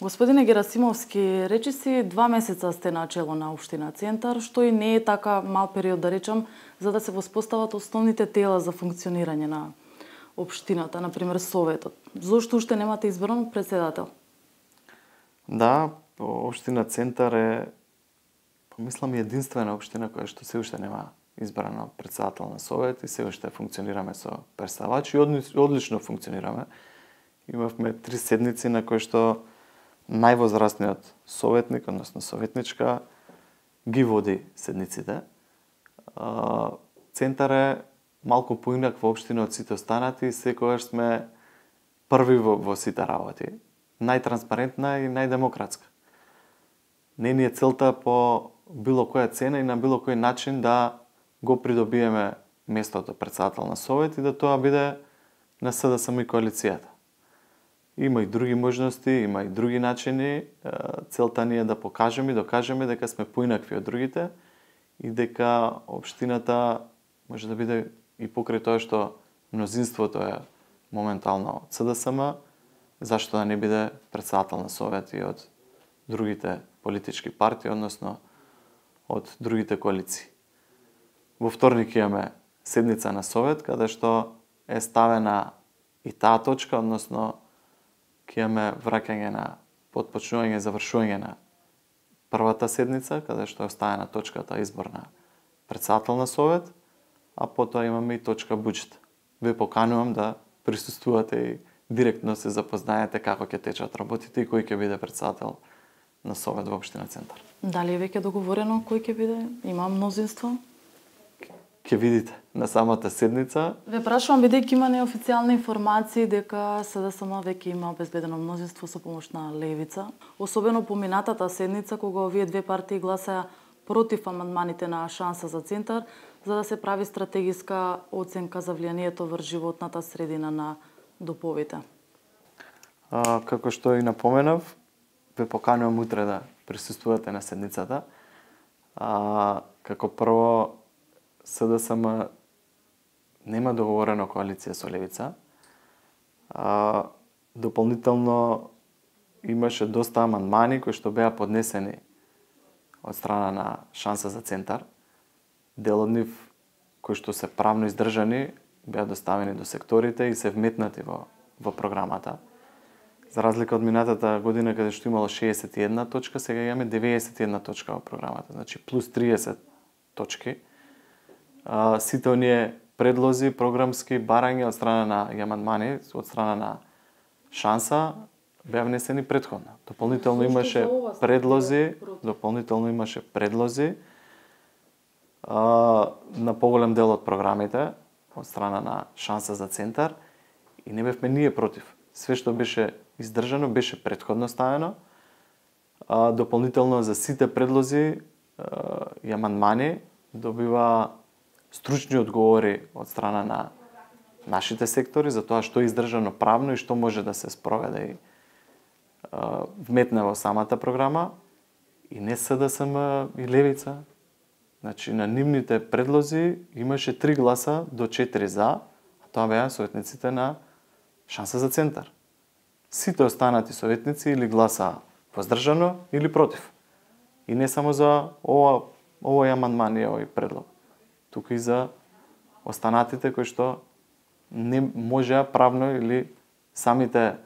Господине Герасимовски, речиси 2 месеца сте на чело на општина Центар, што и не е така мал период да речам, за да се воспостават основните тела за функционирање на општината, например Советот. Зошто уште немате избран председател? Да, општина Центар е, помислам, единствена општина која што се уште нема избрано председател на Совет и се уште функционираме со представачи и одлично функционираме. Имавме 3 седници на кои што највозрастниот советник, односно советничка, ги води седниците. Центар е малку поинаква општина од сите останати и секогаш сме први во сите работи. Најтранспарентна и најдемократска. Не ни е целта по било која цена и на било кој начин да го придобиеме местото председател на Совет и да тоа биде на СДСМ и коалицијата. Има и други можности, има и други начини. Целта ни е да покажеме и докажеме дека сме поинакви од другите и дека општината може да биде и покрај тоа што мнозинството е моментално од СДСМ, зашто да не биде председател на Совет и од другите политички партии, односно од другите коалиции. Во вторник имаме седница на Совет, каде што е ставена и таа точка, односно ќе имаме враќање на потпочнување и завршување на првата седница, каде што е оставена точката избор на председател на Совет, а потоа имаме и точка буџет. Ве поканувам да присуствувате и директно се запознаете како ќе течат работите и кој ќе биде председател на Совет во општина Центар. Дали е веќе договорено кој ќе биде? Има мнозинство? Ќе видите на самата седница. Ве прашувам бидејќи има неофицијални информации дека СДСМ веќе има обезбедено мнозинство со помош на Левица, особено по минатата седница кога овие две партии гласаа против амандманите на Шанса за Центар, за да се прави стратегиска оценка за влијанието врз животната средина на доповите. Како што и напоменав, ве поканувам утре да присуствувате на седницата. Како прво, СДСМ нема договорено коалиција со Левица. Дополнително имаше доста амандмани кои што беа поднесени од страна на Шанса за Центар. Дел од нив кои што се правно издржани беа доставени до секторите и се вметнати во програмата. За разлика од минатата година каде што имало 61 точка, сега имаме 91 точка во програмата, значи плюс 30 точки. Сите оние предлози, програмски барања од страна на амандмани, од страна на Шанса беа внесени претходно. Дополнително имаше предлози на поголем дел од програмите од страна на Шанса за Центар и не бевме ние против. Све што беше издржано беше претходно ставено. Дополнително за сите предлози и амандмани добива стручни одговори од страна на нашите сектори за тоа што е издржано правно и што може да се спроведе и вметне во самата програма и не СДСМ и Левица. Значи на нивните предлози имаше 3 гласа до 4 за, а тоа беа советниците на Шанса за Центар. Сите останати советници или гласа воздржано или против. И не само за овој амандман и овој предлог, туку и за останатите кои што не можеа правно или самите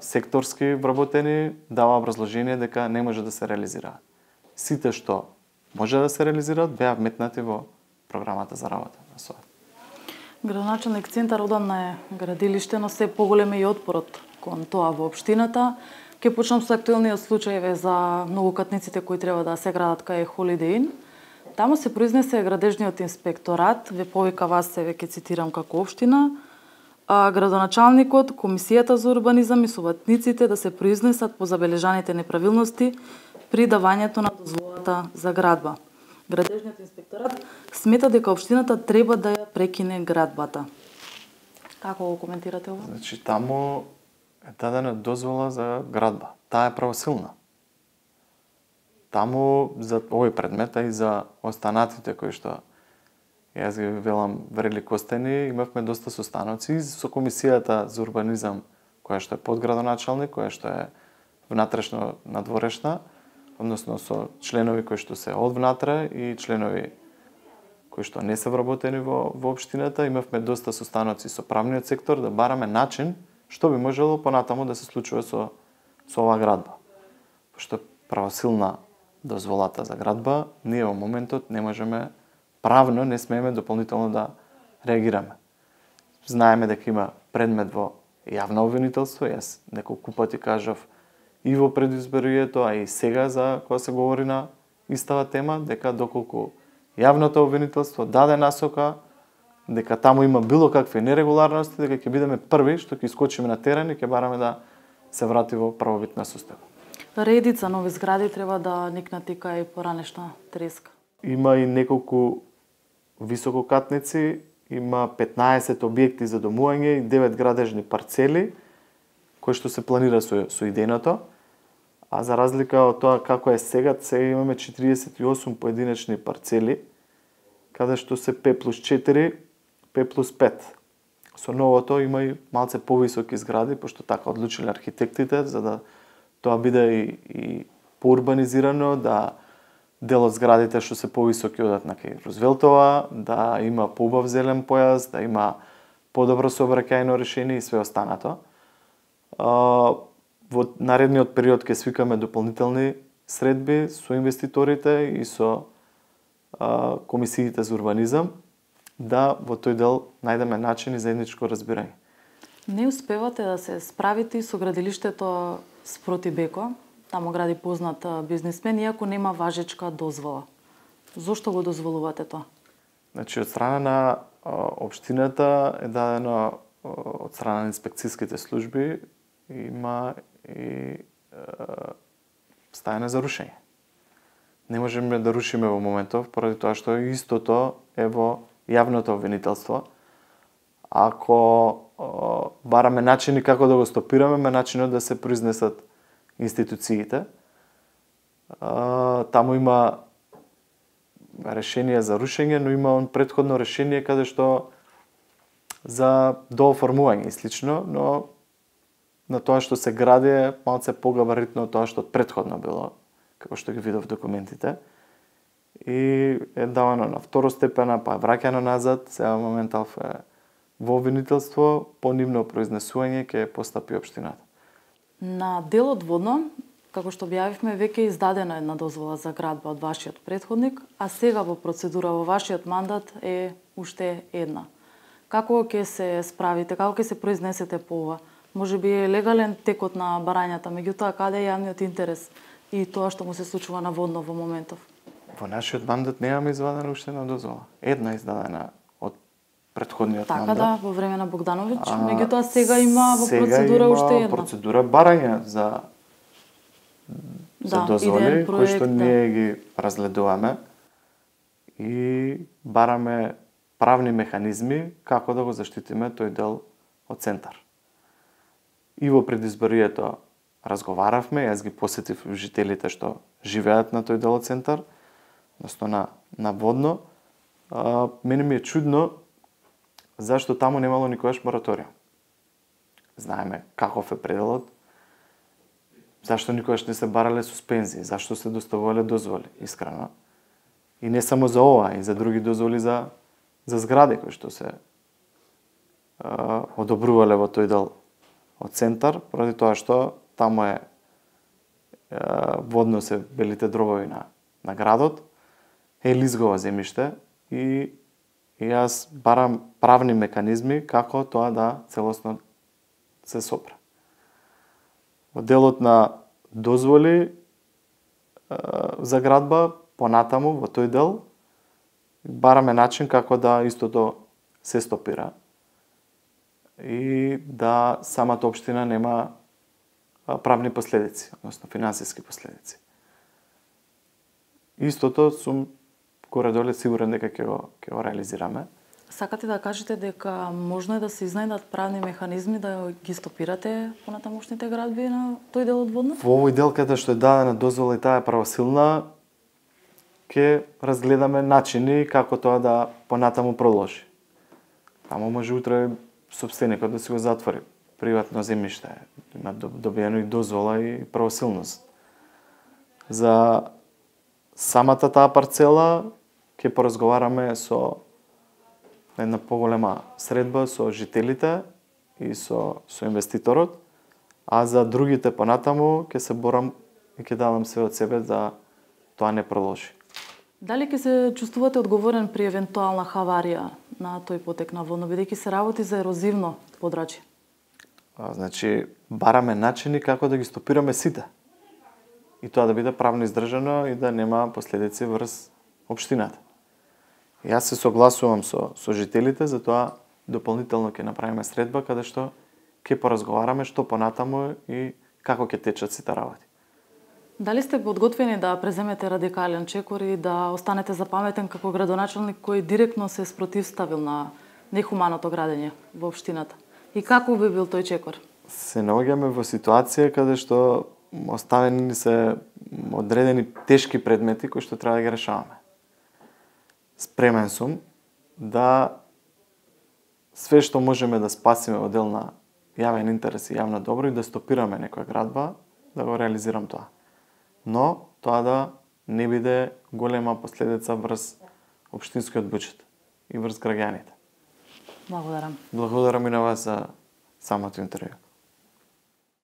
секторски вработени дава образложение дека не може да се реализираат. Сите што може да се реализираат беа вметнати во програмата за работа на Совет. Градоначалник Центар одамна е градилиште, но се поголем е и отпорот кон тоа во општината. Ке почнам со актуелниот случај за многокатниците кои треба да се градат кај Holiday Inn. Таму се произнесе градежниот инспекторат, ве повика вас се веќе цитирам како општина, градоначалникот, комисијата за урбанизам и советниците да се произнесат по забележаните неправилности при давањето на дозволата за градба. Градежниот инспекторат смета дека општината треба да ја прекине градбата. Како го коментирате ова? Значи таму е дадена дозвола за градба. Таа е правосилна. Таму за овој предмет и за останатите кои што јас ги велам врели костени, имавме доста состаноци со комисијата за урбанизам, која што е подградоначалник, која што е внатрешно надворешна, односно со членови кои што се од внатре и членови кои што не се вработени во општината. Имавме доста состаноци со правниот сектор да бараме начин што би можело понатаму да се случува со оваа градба. Пошто правосилна дозволата за градба, ние во моментот не можеме правно, не смееме дополнително да реагираме. Знаеме дека има предмет во јавно обвинителство, јас неколку пати кажав и во предизборието, а и сега за кога се говори на истава тема, дека доколку јавното обвинителство даде насока, дека таму има било какви нерегуларности, дека ќе бидеме први што ќе искочиме на терен и ќе бараме да се врати во правовитна состојба. Редица нови згради треба да никнат и кај поранешна треска. Има и неколку висококатници, има 15 објекти за домување и 9 градежни парцели, кои што се планира со идејното. А за разлика од тоа како е сега имаме 48 поединечни парцели, каде што се П+4, П+5. Со новото има и малце повисоки згради, пошто така одлучиле архитектите, за да тоа биде и поурбанизирано, да дел од зградите што се повисоки одат на кај Рузвелтова, да има поубав зелен појас, да има подобро сообраќајно решение и све останато. Во наредниот период ќе свикаме дополнителни средби со инвеститорите и со комисиите за урбанизам, да во тој дел најдеме начин и заедничко разбирање. Не успевате да се справите и со градилиштето спроти Беко, таму гради познат бизнисмен, иако нема важечка дозвола. Зошто го дозволувате тоа? Значи, од страна на општината е дадено од страна на инспекцијските служби, има и стајане за рушење. Не можеме да рушиме во моментов, поради тоа што истото е во јавното обвинителство. Ако бараме начини како да го стопираме, начинот да се произнесат институциите. Таму има решение за рушење, но има претходно решение каде што за дооформување и слично, но на тоа што се гради е малце погабаритно од тоа што претходно било, како што ги видов документите. И е давано на второстепена, па враќано назад, сега моментал е во обвинителство, по нивно произнесување ќе постапи општината. На делот водно, како што објавивме, веќе е издадена една дозвола за градба од вашиот претходник, а сега во процедура во вашиот мандат е уште една. Како ќе се справите, како ќе се произнесете по ова? Може би е легален текот на барањата, меѓутоа каде е јавниот интерес и тоа што му се случува на водно во моментов? Во нашиот мандат немаме извадена уште една дозвола. Една издадена од претходниот мандат. Така да, во време на Богдановиќ, меѓутоа сега има во процедура уште една. Сега има процедура барање за дозволи, кои што ние ги разгледуваме и бараме правни механизми како да го заштитиме тој дел од центар. И во предизборието разговаравме, јас ги посетив жителите што живеат на тој дел од центар, односно на водно. Мене ми е чудно зашто таму немало никогаш мораториум. Знаеме каков е пределот, зашто никогаш не се барале суспензии, зашто се доставувале дозволи, искрено. И не само за ова, и за други дозволи за згради кои што се одобрувале во тој дел од центар, поради тоа што таму е водно се белите дробови на градот, е лизгово земјиште и јас барам правни меканизми како тоа да целосно се сопре. Во делот на дозволи за градба, понатаму во тој дел, бараме начин како да истото се стопира и да самата општина нема правни последици, односно финансиски последици. Истото сум горе-доле сигурен дека ќе го реализираме. Сакате да кажете дека можно е да се изнајдат правни механизми да ги стопирате понатамошните градби на тој дел од водно? Во овој дел каде што е дадена дозвола и таа е правосилна, ќе разгледаме начини како тоа да понатаму продолжи. Таму може утре сопстеникот да си го затвори. приватно земјиште. Има добиено и дозвола и правосилност. За самата таа парцела ќе поразговараме со една поголема средба со жителите и со инвеститорот, а за другите понатаму ќе се борам и ќе давам све од себе да тоа не продолжи. Дали ќе се чувствувате одговорен при евентуална хаварија на тој потек на водно, бидејќи се работи за ерозивно подрачје? Значи, бараме начини како да ги стопираме сите. И тоа да биде правно издржано и да нема последици врз општината. Јас се согласувам со жителите, затоа дополнително ќе направиме средба каде што ќе поразговараме што понатаму и како ќе течат сите работи. Дали сте подготвени да преземете радикален чекор и да останете запаметен како градоначелник кој директно се спротивставил на нехуманото градење во општината? И како би бил тој чекор? Се наоѓаме во ситуација каде што оставени се одредени тешки предмети кои што треба да ги решаваме. Спремен сум да све што можеме да спасиме во дел на јавен интерес и јавно добро и да стопираме некоја градба, да го реализирам тоа. Но тоа да не биде голема последица врз општинскиот буџет и врз граѓаните. Благодарам. Благодарам и на вас за самото интервју.